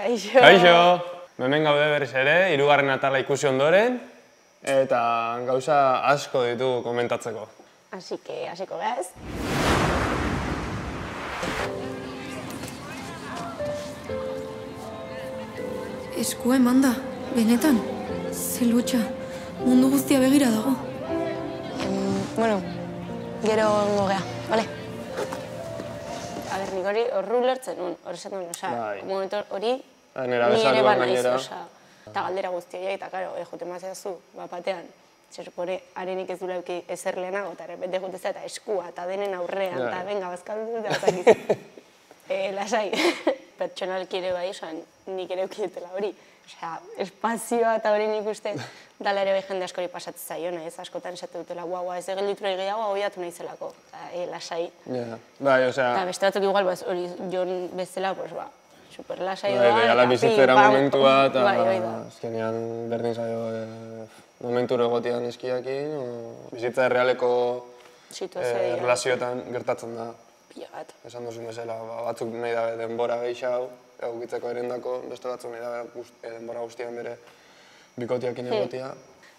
Kaixo! Kaixo! Hemen gaude berriz ere, 3. atala ikusi ondoren, eta gauza asko ditugu komentatzeko. Así que, hasiko gaz. Eskua eman da, benetan. Ze lotxa, mundu guztia begira dago. Bueno, gero ongo gea, bale? A ber, nik hori horru lertzen nuen, hori esan duen, momentu hori ni ere banaiz, eta galdera guztia, eta karo, jute mazeazu, batean, zerpore, harenik ez dula euki ezer lehenago, eta repente jutezea, eta eskua, eta denen aurrean, eta venga, bazkaldu, eta bazakiz. Lasai, pertsonalki ere bai, nik ere eukidetela hori. Espazioa eta hori nik uste, dala ere bai jende askori pasatzen zaiona, ez askotan esate dutela, guau, ez egelitura gehiago, hoiatu nahi zelako, lasai. Bai, osea... Eta beste batzuk igual, hori jon bezala, super lasai doa, eta ala bizitzera momentua, eta azkenean berdin zaio momenturo egotian eskiakin, bizitza errealeko relazioetan gertatzen da. Esan duzun bezala, batzuk nahi dabe denbora gehiago, egukitzeko erendako, beste batzuk nahi dabe denbora guztian bere bikotiakin egotia.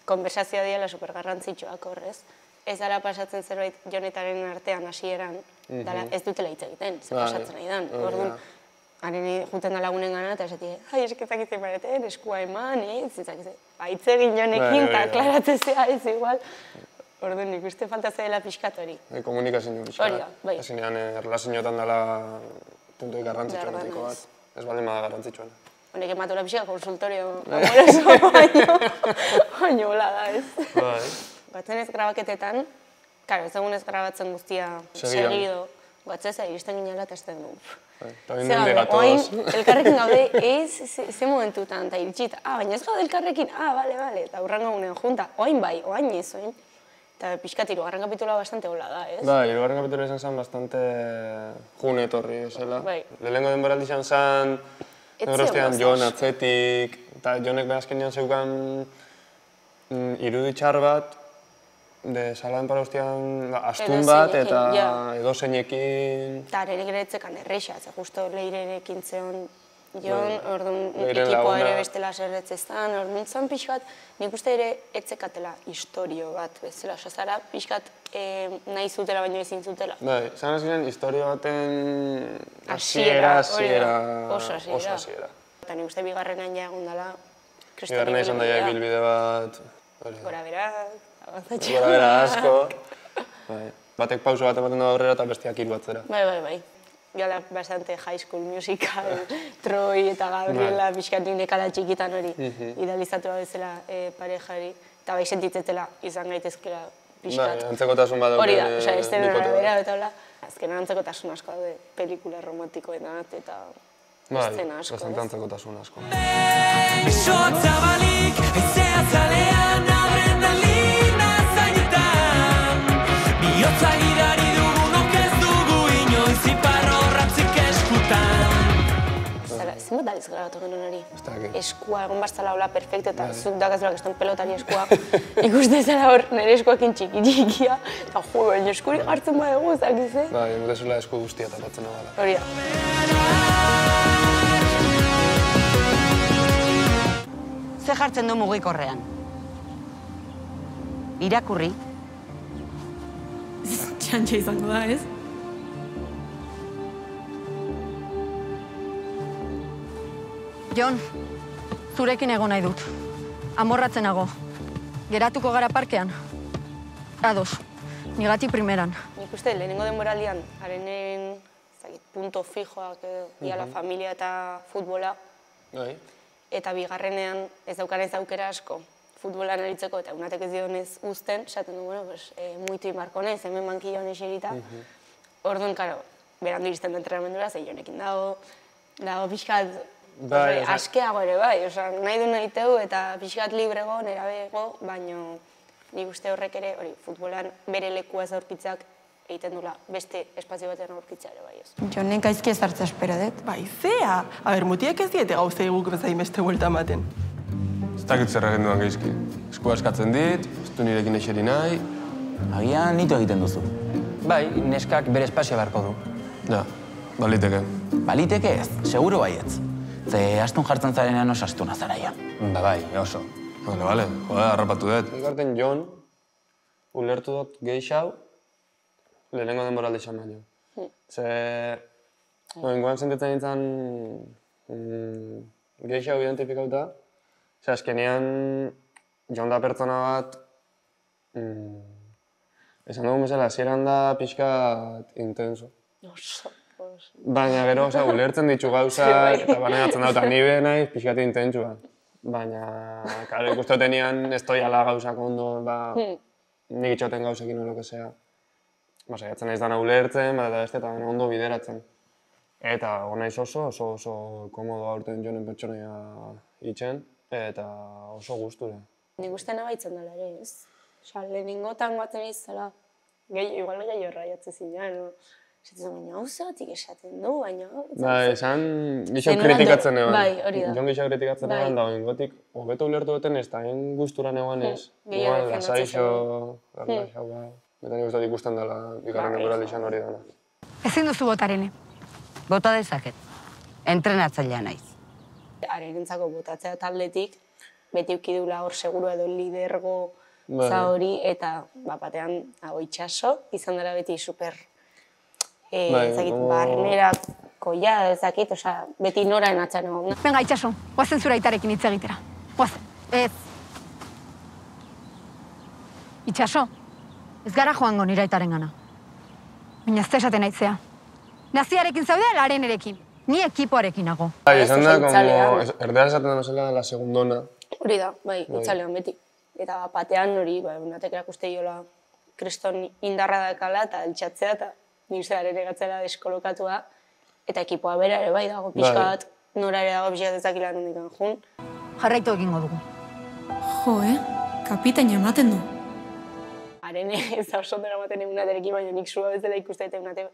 Konversazioa diela supergarrantzitsuak horrez. Ez dara pasatzen zerbait jonetaren artean hasieran, ez dutela hitz egiten, ze pasatzen nahi dan. Orduan, haren juten da lagunen gana, eta esatik, esketak izan bareten, eskua eman, hitz egin jonekin, eta klaratzezea ez igual. Orduan, nik uste falta dela pixkat hori. Komunikazio pixkat. Hori da, bai. Ezinean, erlazioetan dela puntuik garrantzitsua notiko bat. Ez baldin bada garrantzitsuan. Honek ematura pixka konsultorio amoroso baino hola da, ez? Bai. Batzen ez grabaketetan, karo, ez egun ez grabatzen guztia segido, batzeza iristen ginela eta esten du. Eta bindente gatoz. Elkarrekin gaude, ze momentutan, eta iritsita, baina ez gaude elkarrekin, bale, eta hurrengo gunean junta, oain bai, oain ez, oain. Eta pixkat, 3. kapitula bastante hola da, ez? Bai, 3. kapitula izan zen bastante june etorri, esela. Lehenengo denboraldi izan zen, negrostean Jon atzetik, eta Jonek behazkenean zeukan iruditxar bat, de saladen parauztian astun bat, eta edozeinekin... Eta arenik ere etzekan erreixa, ze justo leirerekin zeon Jon, orduan ekipoa ere bestela zerretzeztan, orduan zan pixkat, nik uste ere etzekatela historio bat bezala, zara pixkat nahi zutela baino ezin zutela. Bai, zan azkenean historio baten hasiera, oso hasiera. Eta nik uste bigarrenan ja egon dela, bigarrena izan daia bilbide bat... Gora berak, avantzatxea. Gora bera asko. Batek pauso bat ematen da aurrera eta bestiak hiru atzera. Bai. Gala bastante High School Musical, Troy eta Gabriela pixkatik nekala txikitan hori idealizatu bezala parejari, eta bai sentitzetela izan gaitezkela pixkat. Bai, antzekotasun bat hori da, estenen arabera eta hola. Azkenan antzekotasun asko daude pelikula romantikoetan eta estena asko. Bai, bastante antzekotasun asko. Sotzabalik, ezea zalean, adrenalina zainetan, bihotza gidari dugunok ez dugu inoiz iparro ratzik eskutan. Zenbat daliz grabatu genuen hori? Eskua, egon barzala hola perfecto, eta zuk dakazulak eston pelotari eskua. Ikuste zara hor, nire eskuakin txikia, eta jo, baina eskuri gartzen badegu, zakize? Bai, emutezula esku guztia tapatzen agala. Hori da. Ze jartzen du mugikorrean? Irakurri? Txantxa izango da, ez? Jon, zurekin egon nahi dut. Amorratzen nago. Geratuko gara parkean? Ados, nigatik primeran. Nik uste, lehenengo denboraldian, harenen punto fijoak diala familia eta futbola. Eta bigarrenean ez daukanez aukera asko futbolan aritzeko eta unatek ez dionez uzten, esaten du, muitu imarkonez, hemen bankilloan eserita. Orduan, karo, berandu iristen du entrenamendura, zei Jonekin dago pixkat askeago ere bai, nahi du nahi teu eta pixkat librego, nerabego, baino nik uste horrek ere, futbolan bere lekua ez aurkitzak egiten dula beste espazio batean aurkitzea ere bai ez. Jonek gaizki ez hartza espero dut. Bai, zea! Mutiak ez diete gauzei guk bezain beste buelta ematen. Ez dakit zer egin duan gaizki. Eskua eskatzen dit, ez du nirekin eseri nahi. Agian nitu egiten duzu. Bai, neskak bere espazioa beharko du. Ja, baliteke. Baliteke ez, seguro baietz. Ze astun jartzen zarenean oso astuna zaraia. Bai, oso. Vale, harrapatu dut. Ikarten Jon, ulertu dut gehixau, lehenengo denboraldi esan baino. Ze, ingoan sentitzen nintzen gehixau identifikauta, ze azkenean Jon da pertsona bat, esan dugun bezala, hasieran da pixkat intenso. Baina gero, ulertzen ditu gauzak, eta banegatzen dut, ni be naiz pixkat intentsua. Baina, karo, ikustotenean ez toiala gauzak ondo, nik itxoten gauzekin o lo que sea. Saiatzen naiz dana ulertzen, eta beste eta ondo bideratzen. Eta naiz oso komodo aurten Jonen pertsonaia itxen, eta oso gustura. Nik uste nabaitzen dela ere, ez? Lehenengotan batzen izela, igual gehi horra jatzen zinean, esatzen baina hau zeratik esaten du, baina... Esan gixo kritikatzen eban. Bai, hori da. Jon gixo kritikatzen eban, da gotik, hobeto ulertu duten ez, eta hain gustura negoan ez. Igual, lasaixo, garlaxau, eta nik uste ikusten dela, bigarren denboraldi izan hori dana. Ezin duzu botarene. Bota dezaket. Entrenatzailea naiz. Arenentzako botatzea taldetik, beti ukidula hor seguru edo lidergo za hori, eta batean hau itxaso, izan dela beti super barnerako ezakit, beti noraen atxan egon. Venga, itxaso, guazen zura aitarekin hitz egitera. Guazen, ez. Itxaso, ez gara joango nire aitaren gana. Baina ez esaten aitzea. Naziarekin zaude, larenerekin. Ni ekipoarekin nago. Izan da, erdera esaten da mesela la segundona. Hori da, bai, itzalean beti. Eta batean hori, unatek erakuste jola kriston indarra dakala eta altxatzea eta nik uste ere gatzela deskolokatua. Eta ekipoa bera ere bai dago pixkat, nora ere dago pixkat ezakila nondikan jun. Jarraitu egingo dugu. Jo, kapitaina ematen du. Haren ez da oso dara ematen egunaterekin, baina nik zua bezala ikuste eta egunate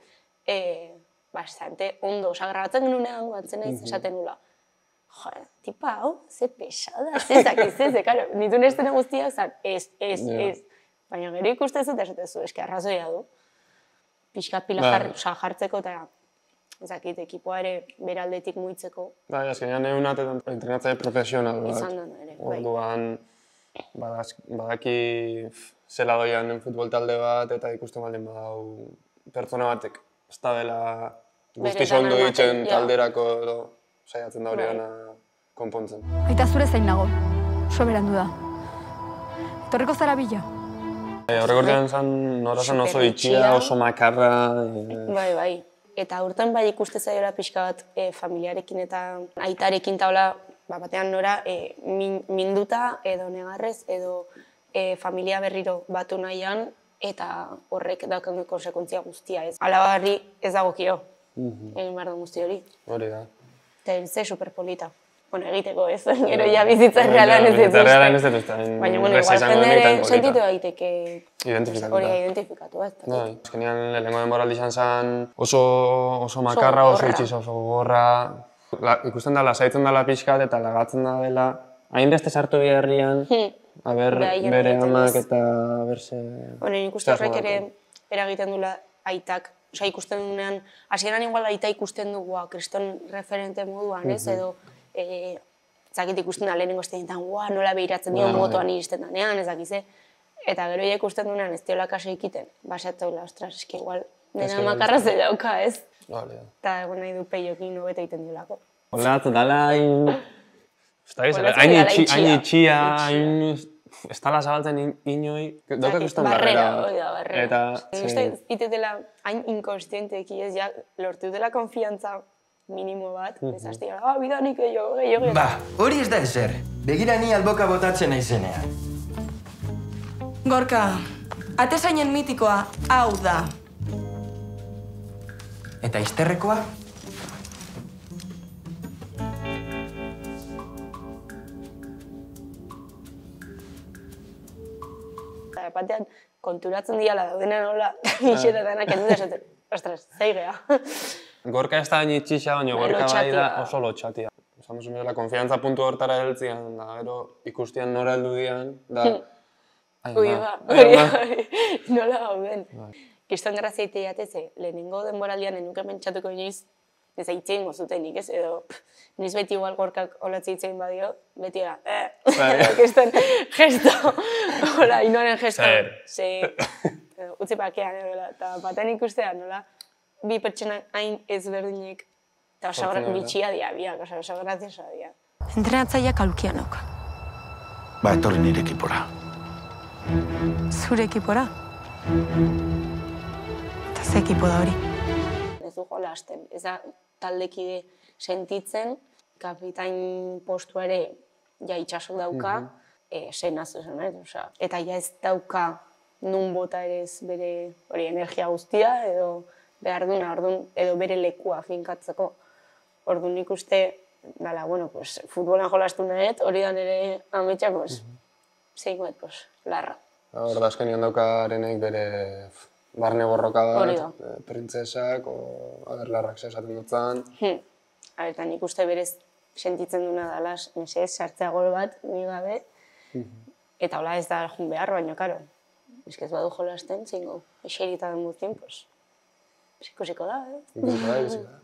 bastante ondo. Grabatzen genunean guatzen naiz esaten nula. Joder, tipa hau, ze pesada, ez, karo, nitu nestena guztiak zan, ez. Baina gero ikustez eta esatezu, eski arrazoia du. Pixkat pila jartzeko eta ezakit, ekipoa ere beraldetik muitzeko. Bai, azkenean egunat entrenatzaile profesional bat. Izan dena ere, bai. Orduan, badaki zela doian futbol talde bat eta ikusten baldin badau pertsona batek. Ez da dela guztiz ondo ditzen talderako edo saiatzen da hori dena konpontzen. Aita zure zein nago, soberandu da. Etorriko zara bila? Horregordian zan nora zan oso itxia, oso makarra. Bai. Eta urten bai ikuste zaiola pixka bat familiarekin eta aitarekin taula batean nora minduta edo negarrez edo familia berriro batu nahian eta horrek daukan konsekuntzia guztia ez. Alabarri ez dagokio, egin behar da guzti hori. Hori da. Eta ze superpolita. Egiteko ez, gero ja bizitza realan ez dut uste. Baina, igual jendere sentitu egiteke hori identifikatu ez. Azkenean lehenengo denboraldi izan zen oso makarra, oso itxiz, oso gorra. Ikusten da, lasaitzen dela pixkat eta lagatzen da dela. Hainbeste sartu biherrian, bere amak eta berse... Ikuste horrek ere eragiten dula aitak. Ikusten duenean, hasieran igual aita ikusten dugu kriston referente moduan, ez, edo zakit ikusten da lehenengo estenetan, nola behiratzen dio motoan iristen danean, ezakize. Eta gero ikusten duenean ez diola kaso ikiten, basatzaula, ostras, eski igual dena makarra ze dauka, ez? Eta egon nahi du peiokin hobeto egiten diolako. Hola, dala hain itxia, ez tala zabaltzen inoi, daukak usten barrera. Barrera. Uste, itetela hain inkonstienteki ez, lortu dela konfiantza minimo bat, ez hasti gara, bidanik gehiago. Ba, hori ez da ezer. Begira ni alboka botatzen naizenean. Gorka, atezainen mitikoa hau da. Eta izterrekoa? Batean, konturatzen diala daudena nola, itxeta denak endu desaten. Ostras, zeigea. Gorka ez da hain itxixa, baina gorka bai da oso lotxatia. Esamosun bezala, konfiantza puntu hortara heltzian, da gero ikustian nora heldu dian, da... Ui, nola gauden. Kiston grazia itea jateze, lehenengo denboraldian enuke pentsatuko inoiz, ez hitzein mozutenik, ez, edo niz beti igual gorkak olatzi hitzein badio, beti era, keston gesto, hola, inoaren gesto, utzi pakean, eta baten ikustea, nola, bi pertsonak hain ezberdinek, eta oso bitxia diabiak, oso graziosa dia. Entrenatzaileak aulkianok. Ba, etorri nire ekipora. Zure ekipora? Eta ze ekipo da hori? Ez du jola hasten, ez da taldekide sentitzen, kapitain postua ere ja itxaso dauka, senazu zen, eta ja ez dauka nun bota ere ez bere energia guztia, edo behar duna, edo bere lekua finkatzeko. Orduan nik uste, dala, bueno, futbolan jolastu nahet, hori da nire ametxak, zeikoet, larra. Hor da, azkenian daukarenek bere barne borroka bat, printzesak, larrak esaten dutzen. Eta nik uste berez sentitzen duna dala, mesez, sartzea gol bat, ni gabe, eta hola ez da jun behar, baina, karo, bizkez badu jolasten, zingo, eserita den guztien, ikusiko da, Ikusiko da.